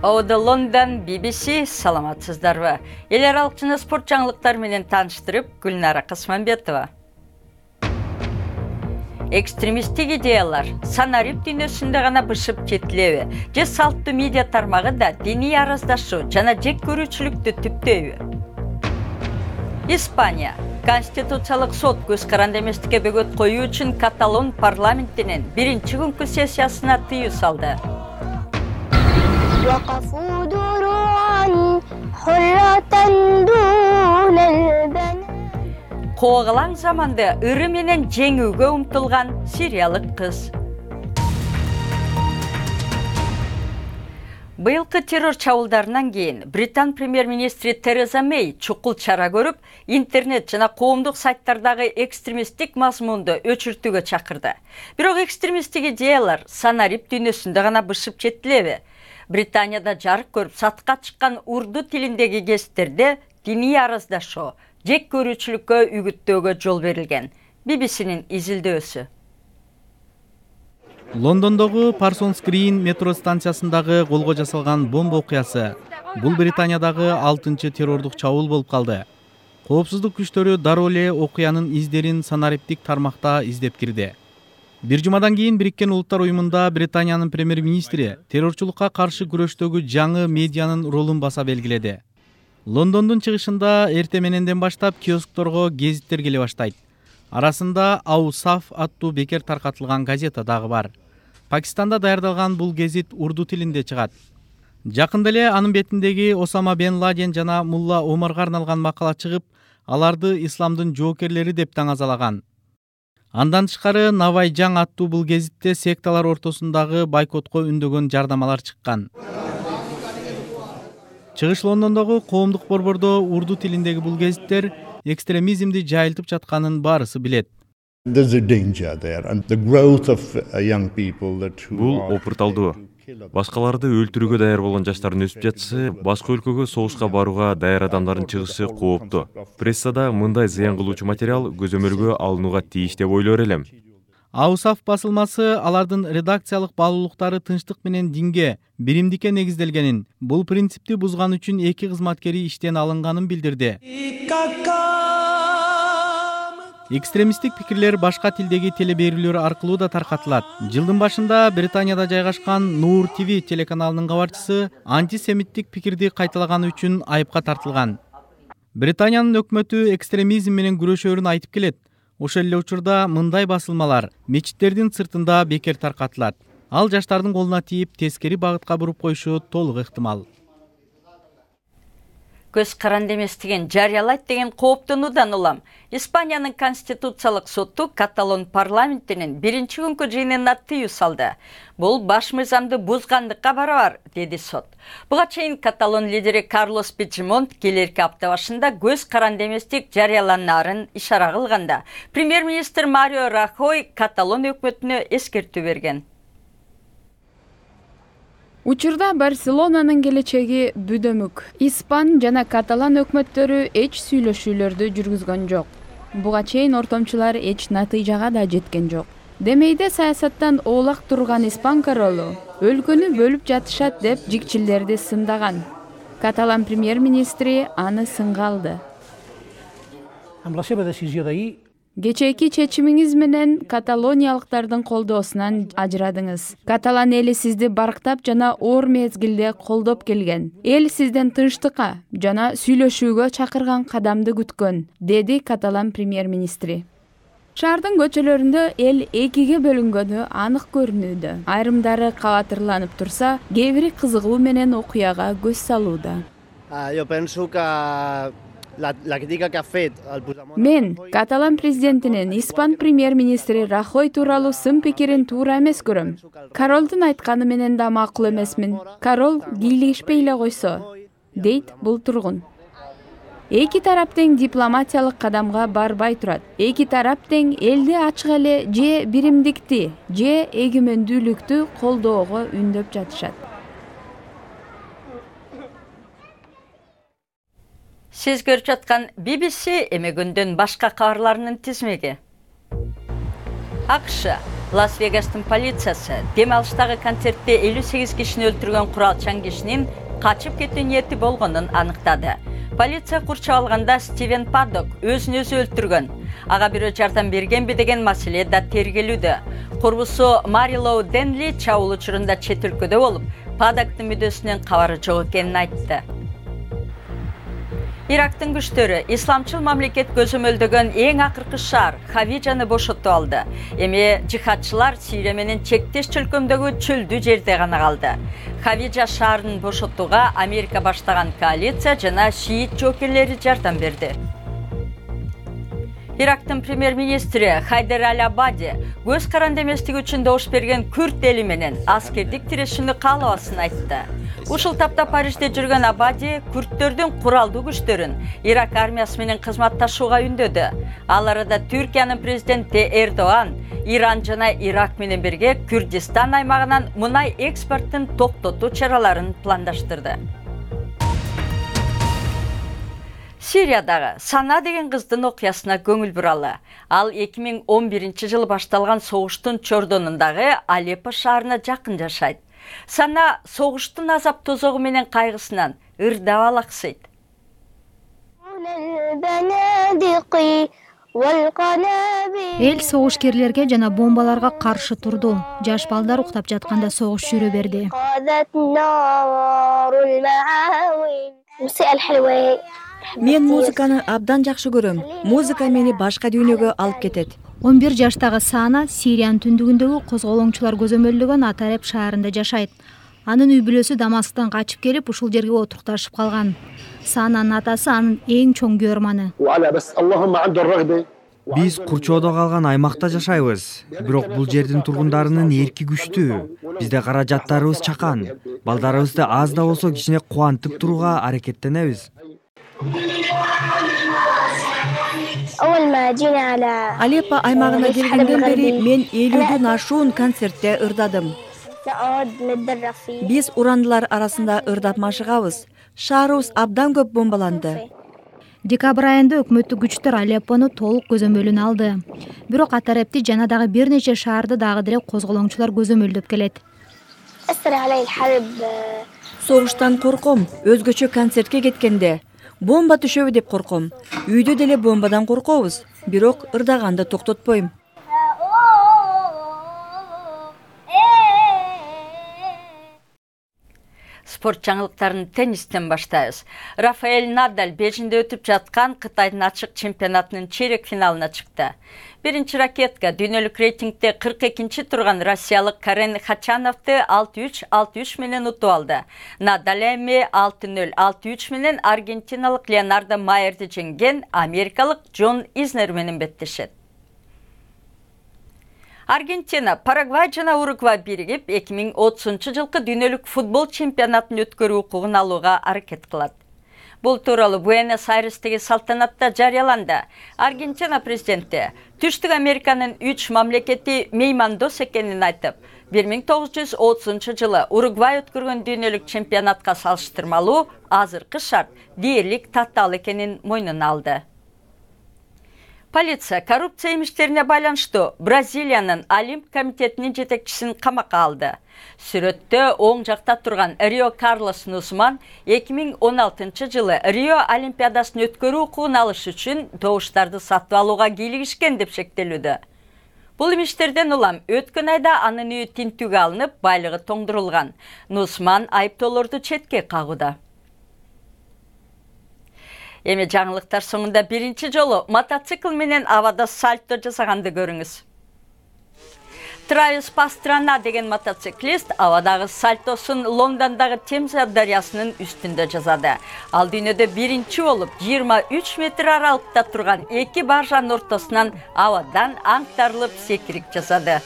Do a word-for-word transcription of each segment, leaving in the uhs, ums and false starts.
Оуда Лондон, би би си, саламатсыздарбы? Эл аралык жана спорт жаңылыктары менен тааныштырып, Гүлнара Касманбетова. Экстремисттик идеялар санарип дүйнөсүндө гана бышып жетилеби? Же салттуу медиа тармагы да диний араздашуу жана жек көрүүчүлүктү түптөйбү? Испания Конституциялык сот көз каранды эместикке бөгөт коюу үчүн Каталон парламентинин биринчи күнкү сессиясына тыюу салды. Коогалаң заманды ыры менен жеңүүгө умтулган сириялык кыз. Быйылкы террор чабуулдарынан кийин Британ премьер-министри Тереза Мэй чукул чара көрүп, интернет жана коомдук сайттардагы экстремисттик мазмунду өчүртүүгө чакырды. Бирок экстремисттик идеялар санарип дүйнөсүндө гана бышып жетилеби? Британияда жарык көрүп сатка чыккан урду тилиндеги гезиттерде диний араздашуу, жек көрүүчүлүккө үгүттөөгө жол берилген. би би синин изилдөөсү. Лондондогу Parsons Green метро станциясындагы колго жасалган бомба окуясы. Бул Британиядагы алтынчы террордук чабуул болуп калды. Коопсуздук күчтөрү дароо эле окуянын издерин санариптик тармакта издеп кирди. Бир жумадан кийин Бириккен Улуттар уюмунда Британиянын премьер-министри террорчулукка каршы күрөштөгү жаңы медианын ролун баса белгиледи. Лондондун чыгышында эрте мененден баштап киоскторго гезиттер келе баштайт. Арасында Аусаф аттуу бекер таркатылган газета дагы бар. Пакистанда даярдалган бул гезит урду тилинде чыгат. Жакында эле анын бетиндеги Осама бен Ладен жана Мулла Омарга арналган макала чыгып, аларды исламдын жоокерлери деп таңазалаган. Андан тышкары Навайжаң аттуу бул гезитте секталар ортосундагы бойкотко үндөгөн жардамалар чыккан. Чыгыш Лондондогу коомдук борбордо урду тилиндеги бул гезиттер экстремизмди жайылтып жатканын баарысы билет. Бул опурталдуу. Башкаларды өлтүрүүгө даяр болгон жаштардын өсүп жатышы, башка өлкөгө согушка барууга даяр адамдардын чыгышы кооптуу. Прессада мындай зыян кылуучу материал көзөмөлгө алынууга тийиш деп ойлор элем. Аусаф басылмасы алардын редакциялык баалуулуктары тынчтык менен динге, биримдикке негизделгенин, бул принципти бузган үчүн эки кызматкери иштен алынганын билдирди. Экстремисттик пикирлер башка тилдеги телеберүүлөр аркылуу да таркатылат. Жылдын башында Британияда жайгашкан Нур ти ви телеканалынын кабарчысы антисемиттик пикирди кайталаганы үчүн айыпка тартылган. Британиянын өкмөтү экстремизм менен күрөшөөрүн айтып келет. Ошол эле учурда мындай басылмалар мечиттердин сыртында бекер таркатылат. Ал жаштардын колуна тийип, тескери багытка буруп коюшу толук ыктымал. Көз каранды эместигин жарыялайт деген кооптонуудан улам. Испаниянын Конституциялык соту Каталон парламентинин биринчи күнкү жыйынына тыюу салды. Бул баш мыйзамды бузгандыкка барабар, деди сот. Буга чейин Каталон лидери Карлос Пучдемонт келерки апта башында көз каранды эместик жарыяланарын ишара кылганда, премьер-министр Марио Рахой Каталон өкмөтүнө эскертүү берген. Учурда Барселонанын келечеги бүдөмүк. Испан жана каталан өкмөттөрү эч сүйлөшүүлөрдү жүргүзгөн жок. Буга чейин ортомчулар эч натыйжага да жеткен жок. Демейде саясаттан оолак турган испан королу өлкөнү бөлүп жатышат деп жикчилдерди сындаган. Каталан премьер-министри аны сынга алды. Кечээки чечимиңиз менен каталониялыктардын колдоосунан ажырадыңыз. Каталан эли сизди барктап жана оор мезгилде колдоп келген. Эл сизден тынчтыкка жана сүйлөшүүгө чакырган кадамды күткөн, деди каталан премьер-министри. Шаардын көчөлөрүндө эл экиге бөлүнгөнү анык көрүнүүдө. Айрымдары кабатырланып турса, кээ бири кызыгуу менен окуяга көз салууда. Мен Каталан президентинин Испан премьер-министри Рахой тууралуу сын пикирин туура эмес көрөм. Королдун айтканы менен да макул эмесмин. Корол кийлигишпей эле койсо, дейт бул тургун. Эки тарап тең дипломатиялык кадамга барбай турат. Эки тарап тең элди ачык эле же биримдикти, же эгемендүүлүктү колдоого үндөп жатышат. Сиз көрүп жаткан би би си эми күндүн башка кабарларынын тизмеги. АКШ Лас-Вегастын полициясы дем алыштагы концертте элүү сегиз кишини өлтүргөн куралчан кишинин качып кетүү ниети болгонун аныктады. Полиция курчап алганда Стивен Паддок өзүн өзү өлтүргөн. Ага бирөө жардам бергенби деген маселе да тергелүүдө. Курбусу Марилоу Денли чабуул учурунда чет өлкөдө болуп, Паддоктун мүдөсүнөн кабары жок экенин айтты. Ирактын күчтөрү исламчыл мамлекет көзөмөлдөгөн эң акыркы шаар Хавижаны бошотуп алды. Эми жихадчылар Сирия менен чектеш чөлкөмдөгү чөлдүү жерде гана калды. Хавижа шаарын бошотууга Америка баштаган коалиция жана шиит жоокерлери жардам берди. Ирактын премьер-министри Хайдер Аль-Абади көз каранды эместиги үчүн добуш берген күрд эли менен аскердик тирешүүнү каалабасын айтты. Ушул тапта Парижде жүргөн Абади күрдтөрдүн куралдуу күчтөрүн Ирак армиясы менен кызматташууга үндөдү. Ал арада Түркиянын президенти Эрдоган Иран жана Ирак менен бирге Күрдистан аймагынан мунай экспортун токтотуу чараларын пландаштырды. Сириядагы Сана деген кыздын окуясына көңүл буралы. Ал эки миң он биринчи жылы башталган согуштун чордонундагы Алеппо шаарына жакын жашайт. Сана согуштун азап тозогу менен кайгысынан ырдап алаксыйт. Эл согушкерлерге жана бомбаларга каршы турду. Жаш балдар уктап жатканда согуш жүрө берди. Мен музыканы абдан жакшы көрөм. Музыка мени башка дүйнөгө алып кетет. он бир жаштагы Сана Сириянын түндүгүндөгү козголоңчулар көзөмөлдөгөн Атареп шаарында жашайт. Анын үй бүлөсү Дамасктан качып келип, ушул жерге отурукташып калган. Сананын атасы анын эң чоң көрманы. Биз курчоодо калган аймакта жашайбыз. Бирок бул жердин тургундарынын эрки күчтүү. Бизде каражаттарыбыз чакан. Балдарыбызды аз да болсо кичине кубантып турууга аракеттенебиз. Алеппо аймагына келгенден бери мен элүүдөн ашуун концертте ырдадым. Биз урандылар арасында ырдап машыгабыз. Шаарыбыз абдан көп бомбаланды. Декабрь айында өкмөттүк күчтөр Алеппону толук көзөмөлүнө алды. Бирок Атарепти жана дагы бир нече шаарды дагы деле козголоңчулар көзөмөлдөп келет. Согуштан корком, өзгөчө концертке кеткенде. Бомба түшөбү деп корком. Үйдө деле бомбадан коркобуз, бирок ырдаганды токтотпойм. Спорт жаңылыктарын теннистен баштайбыз. Рафаэль Надаль Бейжиңде өтүп жаткан Кытайдын ачык чемпионатынын чейрек финалына чыкты. Биринчи ракетка дүйнөлүк рейтингде кырк экинчи турган россиялык Карен Хачановду алты үч алты үч менен утуп алды. Надаль эми алты нөл алты үч менен аргентиналык Леонардо Майерди жеңген америкалык Джон Изнер менен беттешет. Аргентина, Парагвай жана Уругвай биригип эки миң отузунчу жылкы дүйнөлүк футбол чемпионатын өткөрүү укугун алууга аракет кылат. Бул тууралуу Буэнос-Айрестеги салтанатта жарыяланды. Аргентина президенти Түштүк Американын үч мамлекети меймандос экенин айтып, бир миң тогуз жүз отузунчу жылы Уругвай өткөргөн дүйнөлүк чемпионатка салыштырмалуу азыркы шарт дээрлик татаал экенин мойнуна алды. Полиция коррупция имиштерине байланыштуу Бразилиянын Олимп комитетинин жетекчисин камакка алды. Сүрөттө оң жакта турган Рио Карлос Нусман эки миң он алтынчы жылы Рио Олимпиадасын өткөрүү укугун алыш үчүн добуштарды сатып алууга кийлигишкен деп шектелүүдө. Бул имиштерден улам өткөн айда анын үйү тинтүүгө алынып, байлыгы тоңдурулган. Нусман айыптоолорду четке кагууда. Эми жаңылыктар соңунда биринчи жолу мотоцикл менен абада сальто жасаганды көрүңүз. Травис Пастрана деген мотоциклист абадагы сальтосун Лондондогу Темза дарыясынын үстүндө жасады. Ал дүйнөдө биринчи болуп жыйырма үч метр аралыкта турган эки баржанын ортосунан абадан аңтарылып секирик жасады.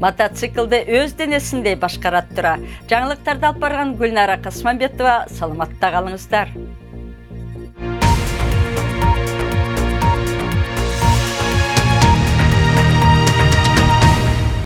Мотоциклды өз денесиндей башкарат тура. Жаңылыктарды алып барган Гүлнара Касманбетова, саламатта калыңыздар.